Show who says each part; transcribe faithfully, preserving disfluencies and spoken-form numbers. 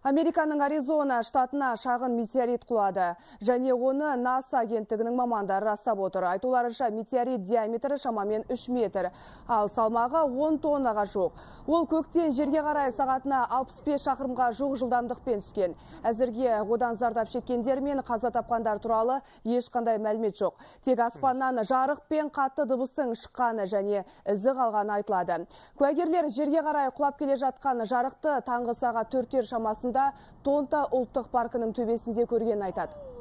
Speaker 1: Американың Аризона штатына шағын метеорит құлады. Және оны НАСА агенттігінің мамандары растап отыр. Айтуларынша метеорит диаметрі шамамен үш метр, ал салмағы он тоннаға жоқ. Ол көктен жерге қарай сағатына алпыс бес шақырымға жоқ жылдамдықпен түскен. Әзірге одан зардап шеккендер мен қаза тапқандар туралы ешқандай мәлімет жоқ. Тек аспаннан жарық пен қатты дыбыстың шыққаны және ізі қалғаны айтылады. Куәгерлер жерге қарай құлап келе жатқан жарықты таңғы сағат төрттер шамасында Тонта ұлттық паркінің төбесінде көргенін айтады.